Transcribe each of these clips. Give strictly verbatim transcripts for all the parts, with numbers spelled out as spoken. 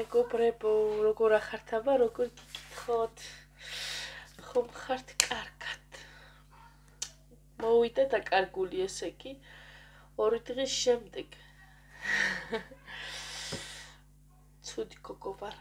მეგობრებო, როგორ ახართ აბა, როგორ გიკითხოთ? ხომ ხართ კარგად? მოვიდა დაკარგული ესე კი ორი დღის შემდეგ. ცუდი გოგო ვარ,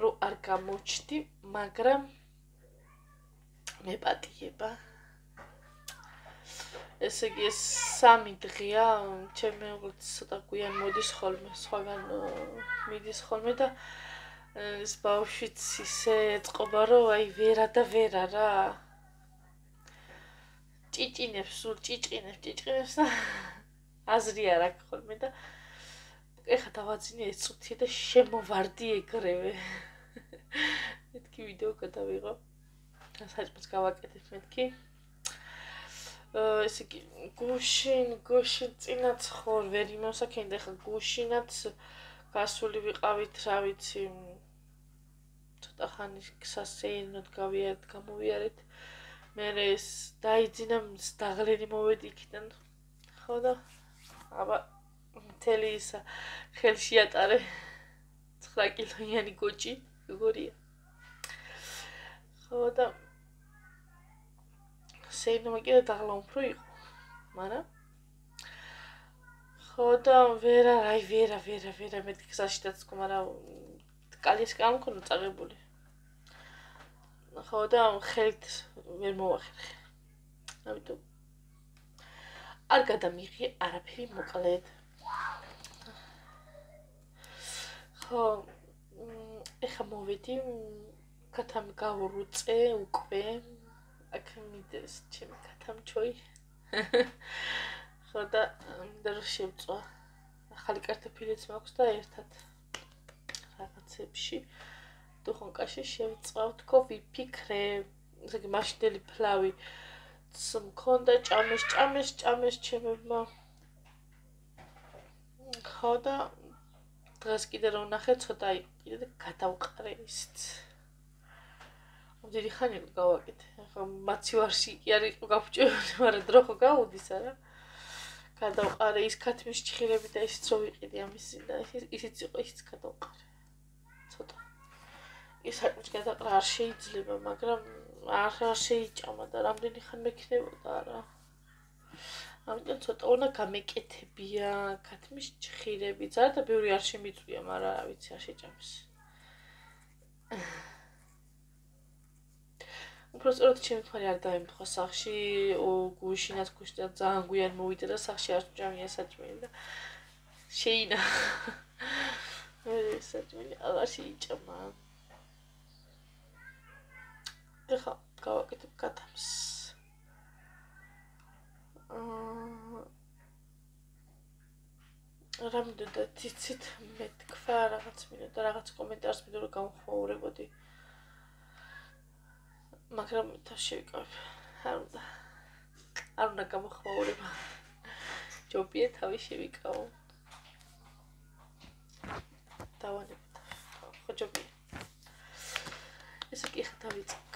რომ არ გამოჩდი, მაგრამ მეპატიება. ესე იგი ეს სამი დღეა, ჩემი მეუღლეც ცოტა გვიან მოდის ხოლმე, სხვაგან მიდის ხოლმე და ეს ბავშვიც ისე ეწყობა, რომ აი ვერა და ვერა რა. ჭიჭინებს, სულ ჭიჭინებს, ჭიჭინებს და აზრი არ აქვს ხოლმე და ეხა დავაძინე ეს წუთი და შემოვარდი ეგრევე. მეთქი ვიდეო გადავიღო. საჭმელს გავაკეთებ მეთქი. ესე იგი გუშინ, გუშინ წინაც ხორ ვერ იმოსაქენდა, ეხლა გუშინაც გასული ვიყავით, რა ვიცი, ცოტა ხანი სასეირნოდ გავიარეთ, გამოვიარეთ. მერე ეს დაიძინა, დაღლენი მოვედი იქიდან. ხო და აბა მთელი ისა ხელში ატარე ცხრა კილოიანი გოჭი, როგორია. ხო და სეირნობა კიდე დაღლა უფრო იყო, მაგრამ ხო და ვერა, აი ვერა, ვერა, ვერა, მეთქი გზაში დაცქო, მაგრამ კალიეს კი არ მქონდა წაღებული. ხო და ხელით ვერ მოვახერხე. ამიტომ არ გადამიღე არაფერი მოკლედ. ხო, ეხა მოვედი, კათამი გავურუწე უკვე. აქ მიდეს ჩემი კათამჩოი. ხო და მინდა რომ შევწვა. ახალი კარტოფილიც მაქვს და ერთად რაღაცებში დუხონკაში შევწვავ, თქო ვიფიქრე. ესე იგი მაშინდელი ფლავი მქონდა, ჭამეს, ჭამეს, ჭამეს ჩემებმა. ხო და დღეს კიდე რომ ვნახე, ცოტა იყიდე და გადავყარე ისიც. დიდი ხანი იყო გავაკეთე. ახლა მაცივარში კი არ იყო გაფუჭებული, მაგრამ დრო ხო გაუდის არა. გადავყარე ის ქათმის ჭხირები და ისიც რო ვიყიდი ამის და ისიც იყო, ისიც გადავყარე. ცოტა. ის საჭმელს გადაყრა არ შეიძლება, მაგრამ არ შეიჭამა და რამდენი ხანი მექნებოდა არა. ამიტომ ცოტა უნდა გამეკეთებია ქათმის ჭხირები. ზარდა და ბევრი არ შემიწვია, მაგრამ რა ვიცი, არ შეჭამს. უბრალოდ ჩემი თვალი არ დაემთხვა სახში, გუშინაც გუშინაც ძალიან გვიან მოვიდა და სახში არ ჭამია საჭმელი და შეინა. საჭმელი აღარ შეიჭამა. ეხლა გავაკეთებ კათამს. რა მინდოდა თიცით მეთქვა რაღაც მინდოდა, რაღაც კომენტარს მინდოდა რომ გამოვხმაურებოდი. მაგრამ თავს შევიკავებ. არ უნდა. არ უნდა გამოხმაურება. ჯობია თავი შევიკავო. დავანებოთ. ხო ჯობია. ესე კი ხა დავიწყებ.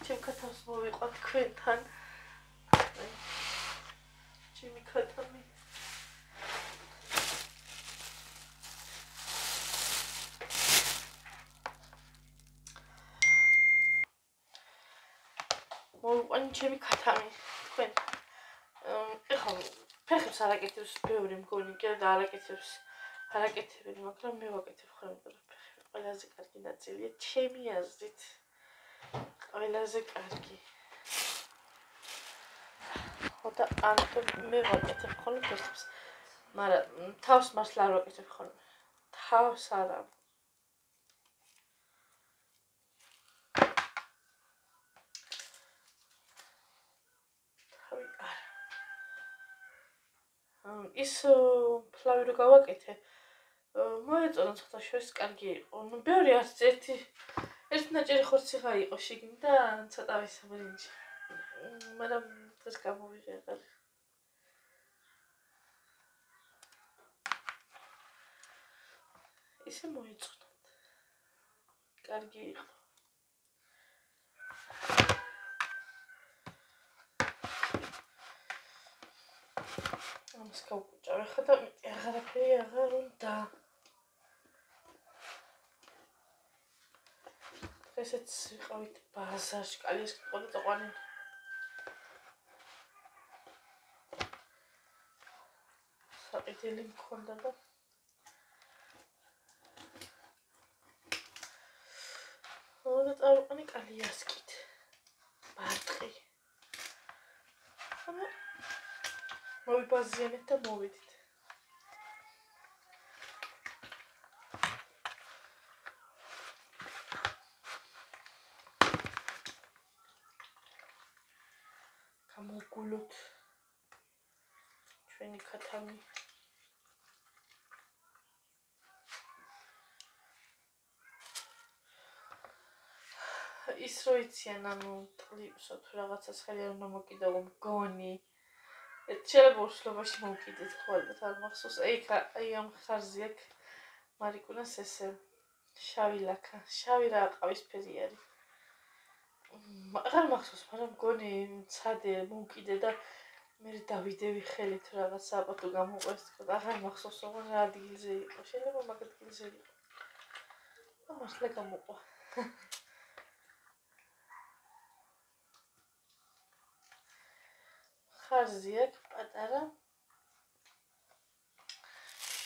ჩემ კათამს მოვიყვა თქვენთან. ჩემი კათამი. მოვიყვანი ჩემი კათამი თქვენ. ეხლა ფეხებს არაკეთებს ბევრი მგონი კიდე და არაკეთებს. არაკეთებენ, მაგრამ მე ვაკეთებ ხოლმე, რომ ფეხები ყველაზე კარგი ნაწილია ჩემი აზრით. ყველაზე კარგი. ხო და ამიტომ მე ვაკეთებ ხოლმე ფეხებს. მაგრამ თავს მართლა არ ვაკეთებ ხოლმე. თავს არა. ის ფლავი რო გავაკეთე, მოეწონა ცოტა შორის კარგი იყო. ნუ ბევრი არც ერთი ერთი ნაჭერი ხორციღა იყო შიგნით და ცოტა ვისაბრინჯი. მაგრამ დღეს გამოვიღე აღარ. ისე მოეწონა. კარგი იყო. ამას გავკუჭავ, ხა და აღარაფერი აღარ უნდა. დღესაც ვიყავით ბაზარში, კალიას ყოდა წაყვანილი. საყიდელი მქონდა და და წავიყვანი კალიასკით. ბარტყი. და მოვიბაზიანეთ და მოვიდით. გამოვგულოთ ჩვენი ქათამი. ის რო იციან, ანუ ტყლიფსო თუ რაღაცას ხელი არ უნდა მოკიდო, მგონი. შეიძლება უშლობაში მოვკიდეთ ხოლმე, არ მახსოვს. აი აი ამ ხარზე აქ მარიკუნას ესე შავი ლაქა, შავი რა ყავისფერი არის. აღარ მახსოვს, მაგრამ მგონი მცადე მოვკიდე და მე დავიდევი ხელით რაღაც აბათო გამოყვეს თქო და აღარ მახსოვს როგორ რა ადგილზე იყო. შეიძლება მაგ ადგილზე იყო. და მართლა გამოყვა. ხარზე აქ პატარა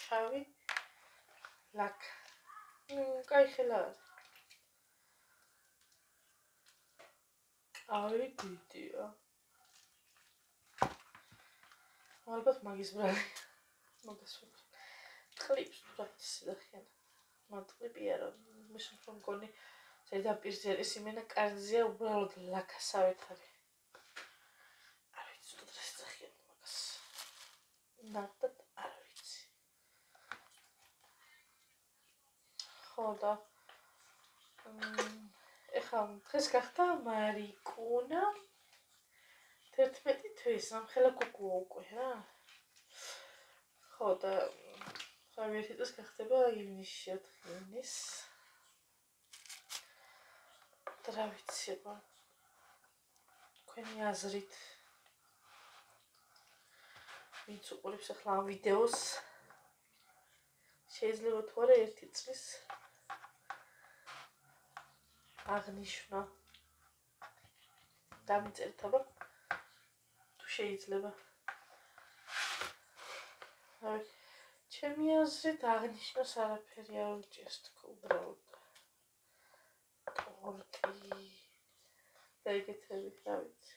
შავი ლაქა. კაი ხელა არის. აი დიდია. ალბათ მაგის ბრალი. მოგესწრებით. ტყლიფს თუ რა ისედახიან. მატყლიპი არა, მის რომ მგონი ზედაპირზე არის იმენა კარზეა უბრალოდ ლაქასავით არის. არ ვიცი თუ რა ისედახიან მაგას. ნახეთ არ ვიცი. ხო და ეხლა დღეს გახდა მარიკუნა თერთმეტი თვის, ამხელა კუკუა უკვე რა. ხო და ხავი ერთი წელს გახდება ივნისში, ოთხი ივნის. და რა ვიცი აბა. თქვენი აზრით ვინც უყურებს ახლა ამ ვიდეოს შეიძლება თუ არა ერთი წლის აღნიშნა დამიწერთ აბა თუ შეიძლება. აი ჩემი აზრით აღნიშნოს არაფერი არ უჭირს თქო უბრალოდ ტორტი და ეგეთები რა ვიცი.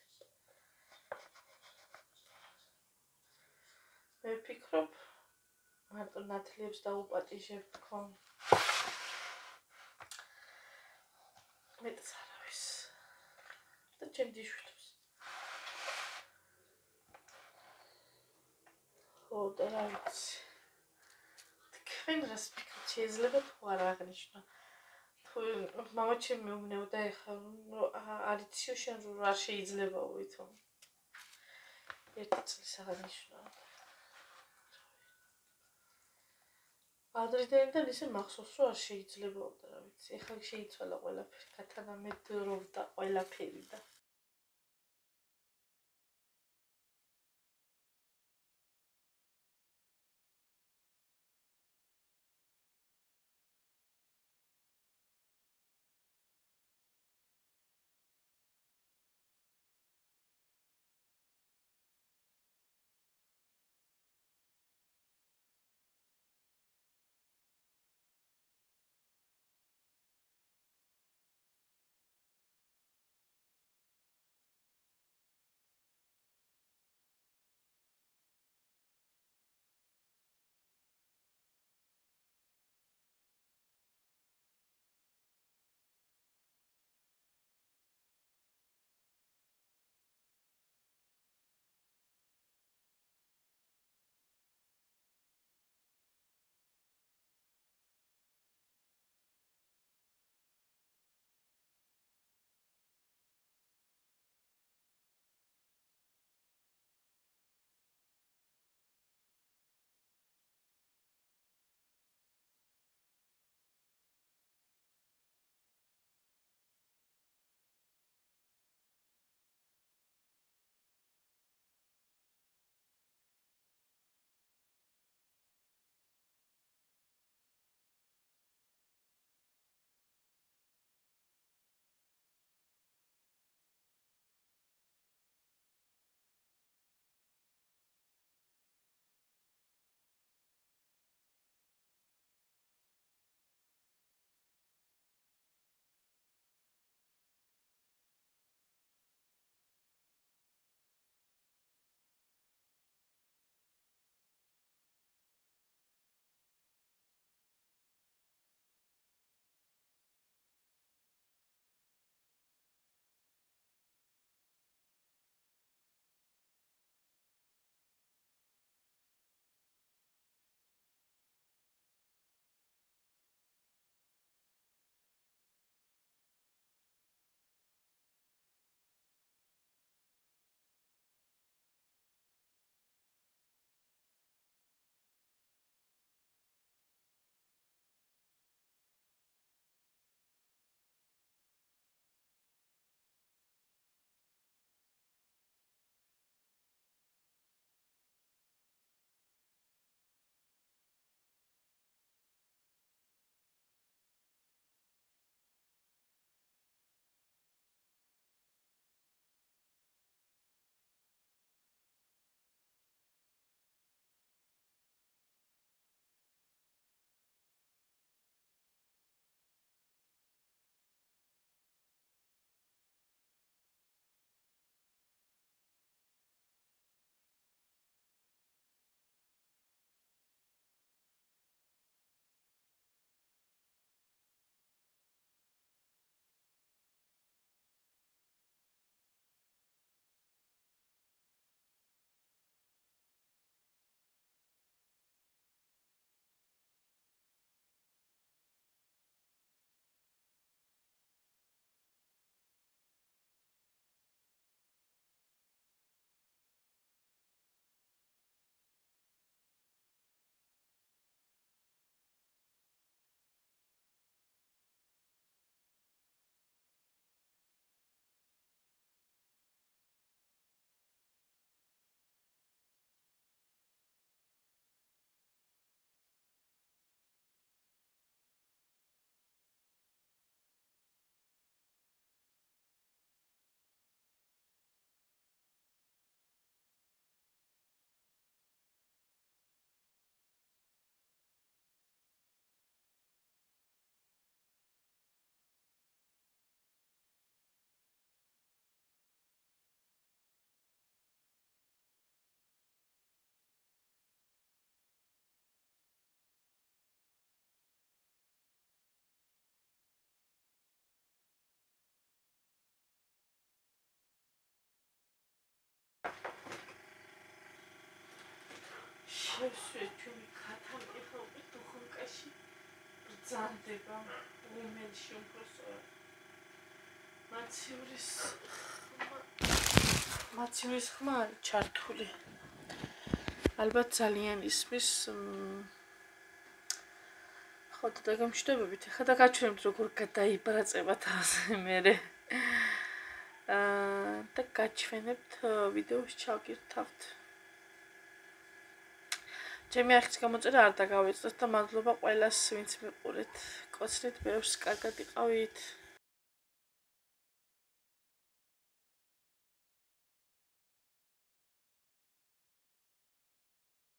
მე ვფიქრობ მარტო ნათლიებს დაუპატიჟებ თქო. მეტს არავის და ჩემ დიშვიდებს. ხო და რა ვიცი. თქვენ რას ფიქრობთ, შეიძლება თუ არა აღნიშნო? თუ მამა ჩემი მეუბნეოდა ეხლა არ იციო შენ რომ არ შეიძლება ვითომ ერთი წლის აღნიშნო. ადრიდან ისე მახსოვს რომ არ შეიძლება და რა ვიცი. ეხლა შეიცვალა ყველაფერი, გათანამედროვდა ყველაფერი და შევსვე ჩვენი ქათამი ხოლმე დუხონკაში ბრძანდება უმენში უმფროსო მაცივრის მაცივრის ხმა არის ჩართული ალბათ ძალიან ისმის ხო და გამშვიდობებით ხა და გაჩვენებთ როგორ გადაიბრაწება თაზე მერე აა და გაჩვენებთ ვიდეოს ჩავკირთავთ ჩემი ახის გამოწერა არ დაგავიწყდეთ და მადლობა ყველას ვინც მიყურეთ კოცნით ბევრს კარგად იყავით